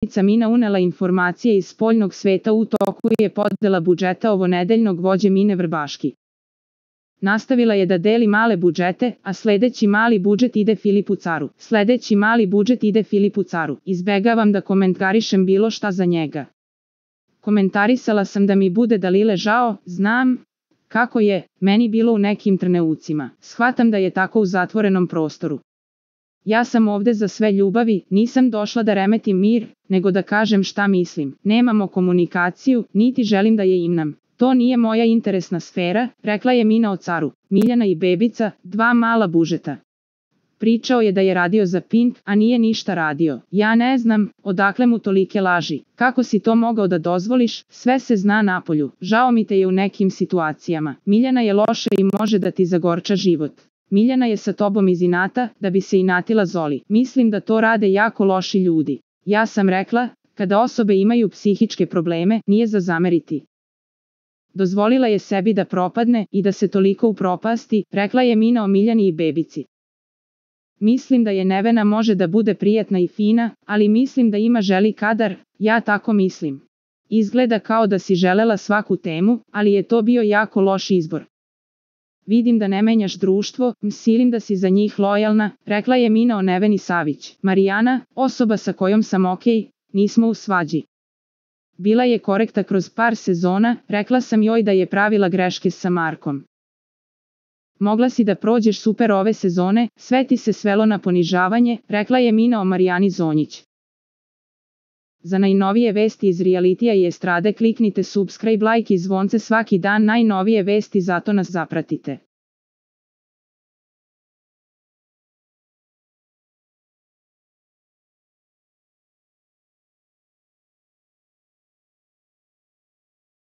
Poslanica Mina unela informacije iz spoljnog sveta. U toku je podela budžeta ovonedeljnog vođe Mine Vrbaški. Nastavila je da deli male budžete, a sledeći mali budžet ide Filipu Caru. Sledeći mali budžet ide Filipu Caru. Izbegavam da komentarišem bilo šta za njega. Komentarisala sam da mi bude Dalile žao, znam kako je meni bilo u nekim trenucima. Shvatam da je tako u zatvorenom prostoru. Ja sam ovde za sve ljubavi, nisam došla da remetim mir, nego da kažem šta mislim. Nemamo komunikaciju, niti želim da je imam. To nije moja interesna sfera, rekla je Mina o Caru. Miljana i Bebica, dva mala budžeta. Pričao je da je radio za Pink, a nije ništa radio. Ja ne znam, odakle mu tolike laži. Kako si to mogao da dozvoliš, sve se zna napolju. Žao mi te je u nekim situacijama. Miljana je loša i može da ti zagorča život. Miljana je sa tobom iz inata, da bi se inatila Zoli. Mislim da to rade jako loši ljudi. Ja sam rekla, kada osobe imaju psihičke probleme, nije za zameriti. Dozvolila je sebi da propadne i da se toliko upropasti, rekla je Mina o Miljani i Bebici. Mislim da je Nevena može da bude prijatna i fina, ali mislim da ima želi kadar, ja tako mislim. Izgleda kao da si želela svaku temu, ali je to bio jako loš izbor. Vidim da ne menjaš društvo, mislim da si za njih lojalna, rekla je Mina o Neveni Savić. Marijana, osoba sa kojom sam okej, nismo u svađi. Bila je korekta kroz par sezona, rekla sam joj da je pravila greške sa Markom. Mogla si da prođeš super ove sezone, sve ti se svelo na ponižavanje, rekla je Mina o Marijani Zonjić. Za najnovije vesti iz realitija i estrade kliknite subscribe, like i zvonce svaki dan, najnovije vesti, zato nas zapratite.